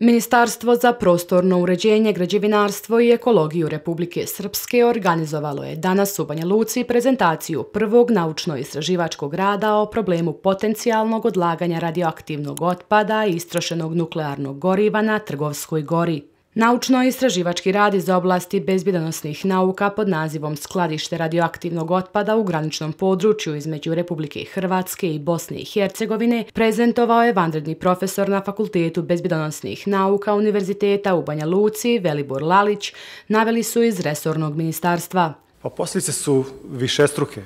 Ministarstvo za prostorno uređenje, građevinarstvo i ekologiju Republike Srpske organizovalo je danas u Banja Luci prezentaciju prvog naučno-istraživačkog rada o problemu potencijalnog odlaganja radioaktivnog otpada i istrošenog nuklearnog goriva na Trgovskoj gori. Naučno-istraživački rad iz oblasti bezbjednosnih nauka pod nazivom Skladište radioaktivnog otpada u graničnom području između Republike Hrvatske i Bosne i Hercegovine prezentovao je vanredni profesor na Fakultetu bezbjednosnih nauka Univerziteta u Banja Luci, Velibor Lalić, naveli su iz resornog ministarstva. Posljedice su višestruke.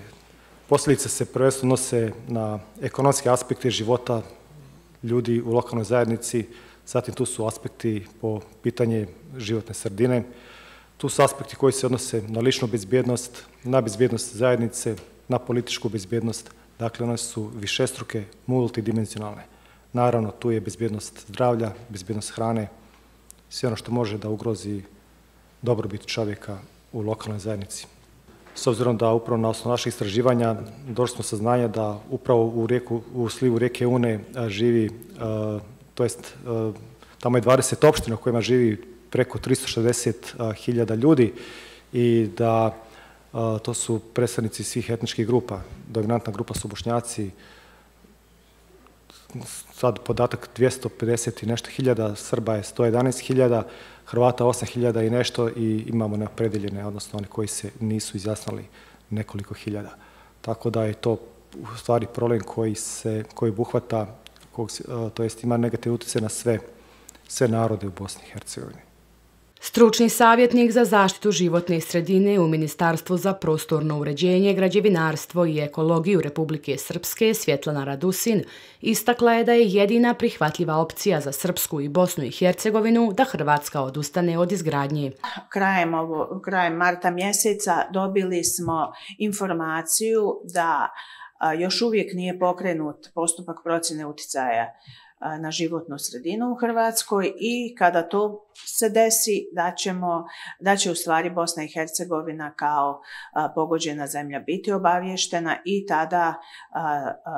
Posljedice se prvenstveno nose na ekonomske aspekte života ljudi u lokalnoj zajednici. Zatim tu su aspekti po pitanje životne sredine, tu su aspekti koji se odnose na ličnu bezbjednost, na bezbjednost zajednice, na političku bezbjednost, dakle one su višestruke, multidimenzionalne. Naravno, tu je bezbjednost zdravlja, bezbjednost hrane, sve ono što može da ugrozi dobrobit čovjeka u lokalnoj zajednici. S obzirom da upravo na osnovu naših istraživanja došli smo saznanja da upravo u slivu rijeke Une živi tamo je 20 opština u kojima živi preko 360.000 ljudi i da to su predstavnici svih etničkih grupa. Dominantna grupa su Bošnjaci, sad podatak 250 i nešto hiljada, Srba je 111.000, Hrvata 8.000 i nešto i imamo neopredeljene, odnosno oni koji se nisu izjasnili nekoliko hiljada. Tako da je to u stvari problem koji obuhvata, to jest ima negativni utjecaj na sve narode u Bosni i Hercegovini. Stručni savjetnik za zaštitu životne sredine u Ministarstvu za prostorno uređenje, građevinarstvo i ekologiju Republike Srpske, Svjetlana Radusin, istakla je da je jedina prihvatljiva opcija za Srpsku i Bosnu i Hercegovinu da Hrvatska odustane od izgradnje. Krajem marta mjeseca dobili smo informaciju da još uvijek nije pokrenut postupak procjene utjecaja na životnu sredinu u Hrvatskoj i kada to se desi da će u stvari Bosna i Hercegovina kao pogođena zemlja biti obavještena i tada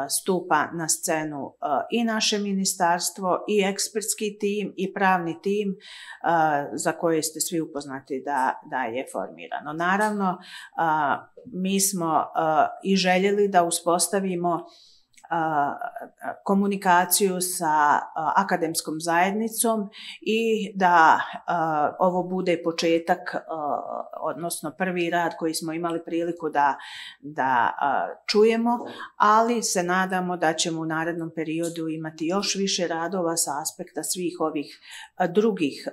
stupa na scenu i naše ministarstvo i ekspertski tim i pravni tim za koje ste svi upoznati da je formirano. Naravno, mi smo i željeli da uspostavimo komunikaciju sa akademskom zajednicom i da ovo bude početak, odnosno prvi rad koji smo imali priliku da čujemo, ali se nadamo da ćemo u narednom periodu imati još više radova sa aspekta svih ovih drugih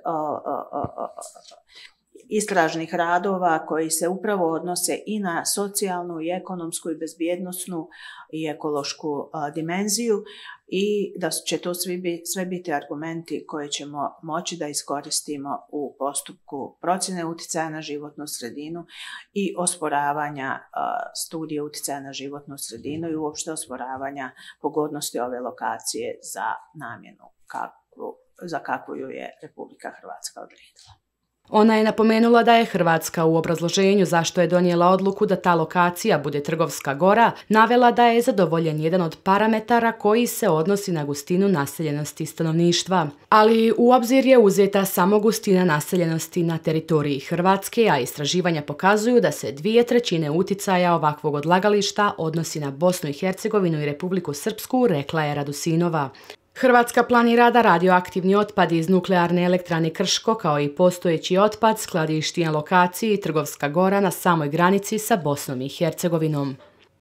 istražnih radova koji se upravo odnose i na socijalnu i ekonomsku i bezbjednosnu i ekološku dimenziju i da će to sve biti argumenti koje ćemo moći da iskoristimo u postupku procjene utjecaja na životnu sredinu i osporavanja studije utjecaja na životnu sredinu i uopšte osporavanja pogodnosti ove lokacije za namjenu za kakvu ju je Republika Hrvatska odredila. Ona je napomenula da je Hrvatska u obrazloženju zašto je donijela odluku da ta lokacija bude Trgovska gora, navela da je zadovoljen jedan od parametara koji se odnosi na gustinu naseljenosti stanovništva. Ali u obzir je uzeta samo gustina naseljenosti na teritoriji Hrvatske, a istraživanja pokazuju da se 2/3 uticaja ovakvog odlagališta odnosi na Bosnu i Hercegovinu i Republiku Srpsku, rekla je Radusinova. Hrvatska planira da radioaktivni otpad iz nuklearne elektrane Krško kao i postojeći otpad skladišti na lokaciji Trgovska gora na samoj granici sa Bosnom i Hercegovinom.